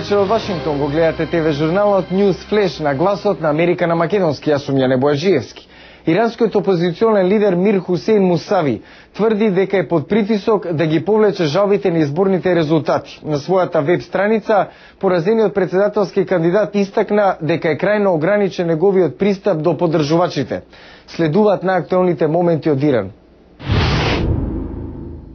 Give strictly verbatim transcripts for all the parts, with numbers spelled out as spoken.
вечер од Вашингтон, го гледате ТВ журналот News Flash на гласот на Америка на македонски. Јас сум Јане Бојаджиевски. Иранскиот опозиционен лидер Мир Хусейн Мусави тврди дека е под притисок да ги повлече жалбите на изборните резултати. На својата веб страница, поразениот председателски кандидат истакна дека е крајно ограничен неговиот пристап до поддржувачите. Следуваат најактуелните моменти од Иран.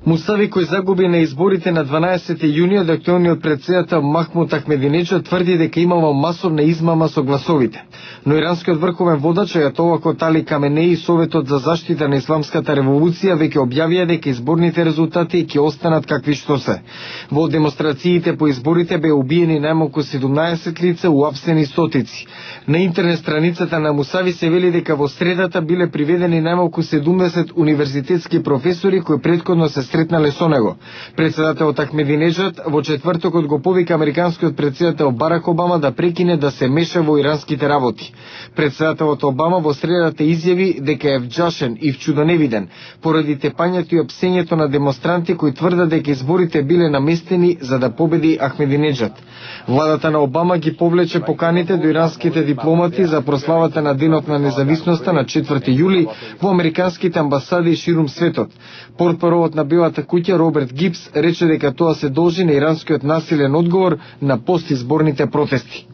Мусави, кој загуби на изборите на дванаесети јуни, од актуелниот председател Махмуд Ахмединеджад тврди дека имало масовна измама со гласовите. Но иранскиот врховен водач Ајатолла Али Каменеи и Советот за заштита на исламската револуција веќе објавија дека изборните резултати ќе останат какви што се. Во демонстрациите по изборите беа убиени најмалку седумнаесет лица, уапсени стотици. На интернет страницата на Мусави се вели дека во средата биле приведени најмалку седумдесет универзитетски професори кои претходно се сретнале со него. Председателот Ахмединеджад во четвртокот го повика американскиот председател Барак Обама да прекине да се меша во иранските работи. Председателот Обама во средата изјави дека е вџашен и вчудоневиден поради тепањето и опсењето на демонстранти кои тврдат дека изборите биле наместени за да победи Ахмединеджад. Владата на Обама ги повлече поканите до иранските дипломати за прославата на Денот на независноста на четврти јули во американските амбасади ширум светот. Портпаровот на Белата куќа Роберт Гибс рече дека тоа се должи на иранскиот насилен одговор на постизборните протести.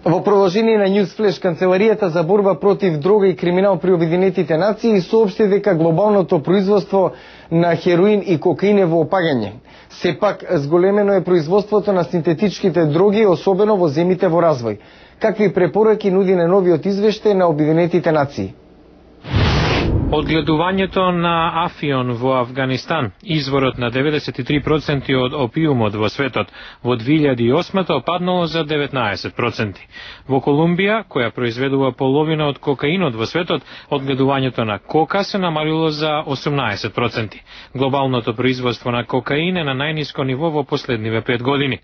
Во продолжение на News Flash, Канцеларијата за борба против дрога и криминал при Обединетите нации соопшти дека глобалното производство на хероин и кокаин е во опагање. Сепак, зголемено е производството на синтетичките дроги, особено во земите во развој. Какви препораки нуди на новиот извештај на Обединетите нации? Одгледувањето на афион во Афганистан, изворот на деветдесет и три проценти од опиумот во светот, во две илјади и осма паднало за деветнаесет проценти. Во Колумбија, која произведува половина од кокаинот во светот, одгледувањето на кока се намалило за осумнаесет проценти. Глобалното производство на кокаин е на најниско ниво во последниве пет години.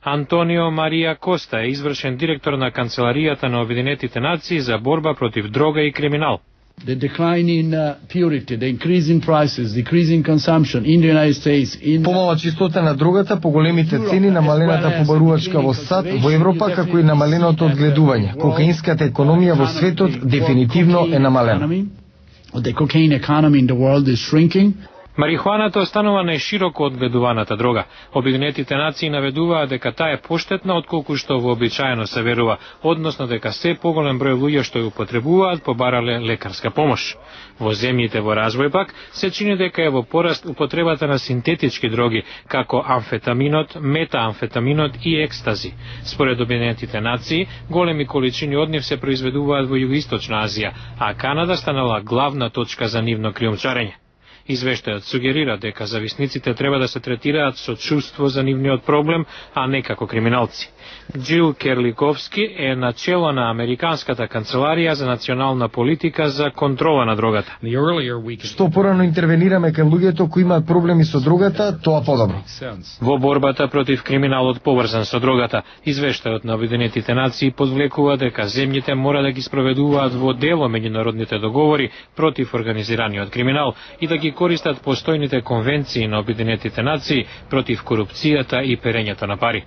Антонио Марија Коста е извршен директор на Канцеларијата на Обединетите нации за борба против дрога и криминал. The decline in uh, purity, the increase in prices, decrease in consumption in the United States. In Помала чистота на дрогата, поголемите цени, намалената побарувачка во САД, во Европа, како и намаленото одгледување. Кокаинската економија во светот дефинитивно е намалена. The cocaine economy in the world is shrinking. Марихуаната останува најшироко одгледуваната дрога. Обединетите нации наведуваат дека таа е поштетна отколку што вообичаено се верува, односно дека се поголем број луѓе што ја употребуваат побарале лекарска помош. Во земјите во развој пак се чини дека е во пораст употребата на синтетички дроги, како амфетаминот, метаамфетаминот и екстази. Според Обединетите нации, големи количини од нив се произведуваат во Југоисточна Азија, а Канада станала главна точка за нивно криумчарење. Извештајот сугерира дека зависниците треба да се третираат со чувство за нивниот проблем, а не како криминалци. Џил Керликовски е начело на Американската канцеларија за национална политика за контрола на дрогата. Што порано интервенираме кон луѓето кои имаат проблеми со дрогата, тоа подобро. Во борбата против криминалот поврзан со дрогата, извештајот на Обединетите нации подвлекува дека земјите мора да ги спроведуваат во дело меѓународните договори против организираниот криминал и да ги користат постојните конвенции на Обединетите нации против корупцијата и перењето на пари.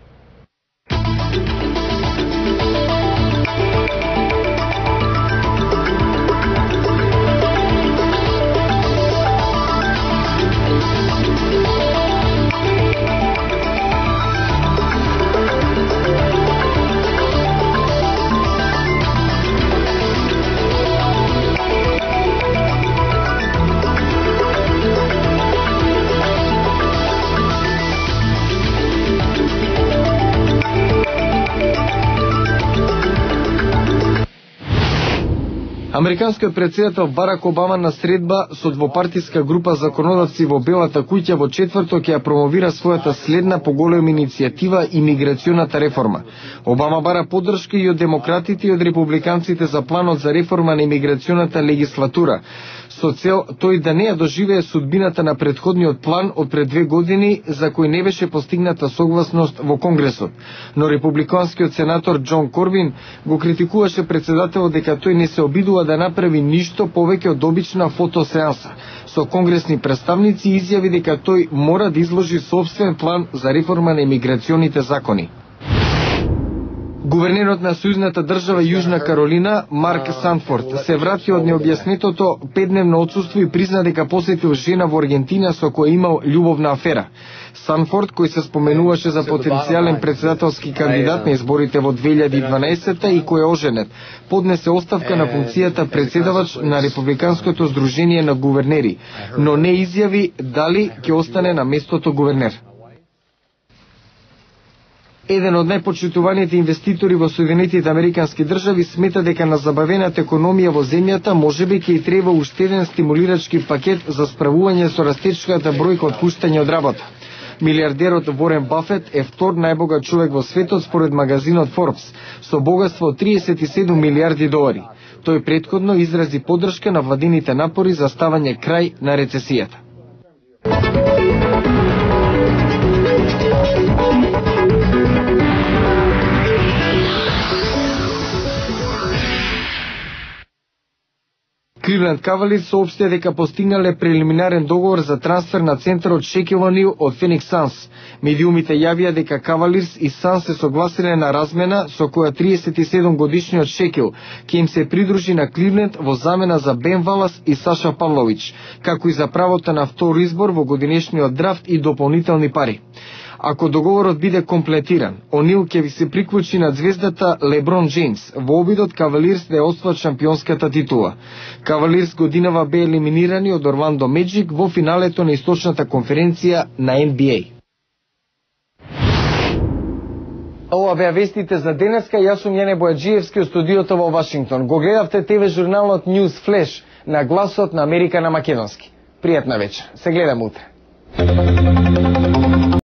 Американскиот председател Барак Обама на средба со двопартиска група законодавци во Белата куќа во четврток ја промовира својата следна поголема иницијатива имиграционата реформа. Обама бара поддршка и од демократите и од републиканците за планот за реформа на имиграционата легислатура, со цел тој да не ја доживее судбината на претходниот план од пред две години за кој не беше постигната согласност во Конгресот. Но републиканскиот сенатор Џон Корбин го критикуваше председателот дека тој не се обидува да да направи ништо повеќе од обична фотосеанса. Со конгресни представници изјави дека тој мора да изложи собствен план за реформа на имиграционите закони. Гувернерот на Сојузната држава Јужна Каролина, Марк Санфорд, се врати од необјаснетото петдневно отсуство и призна дека посетил жена во Аргентина со која имал љубовна афера. Санфорд, кој се споменуваше за потенцијален председателски кандидат на изборите во две илјади и дванаесета и кој е оженет, поднесе оставка на функцијата председавач на Републиканското здружение на гувернери, но не изјави дали ќе остане на местото гувернер. Еден од најпочитуваните инвеститори во Соединетите Американски држави смета дека на забавената економија во земјата можеби ќе и треба уште еден стимулирачки пакет за справување со растечката бројка отпуштање од работа. Милиардерот Ворен Бафет е втор најбогат човек во светот според магазинот Forbes, со богатство од триесет и седум милиарди долари. Тој претходно изрази поддршка на владините напори за ставање крај на рецесијата. Кливленд Кавалирс соопштија дека постигнале прелиминарен договор за трансфер на центарот Шекил Онил од Феникс Санс. Медиумите јавија дека Кавалирс и Санс се согласиле на размена со која триесет и седум годишниот Шекил ќе им се придружи на Кливленд во замена за Бен Валас и Саша Павлович, како и за правото на втор избор во годинешниот драфт и дополнителни пари. Ако договорот биде комплетиран, Онил ќе ви се приклучи на звездата Леброн Джеймс во обидот Кавалирс да ја освоат шампионската титула. Кавалирс годинава бе елиминирани од Орландо Меджик во финалето на источната конференција на Н Б А. Ова беа вестите за денеска. Јас сум Јане Бојаджиевски од студиото во Вашингтон. Го гледавте Т В журналот News Flash на гласот на Америка на македонски. Пријатна вечер. Се гледам утре.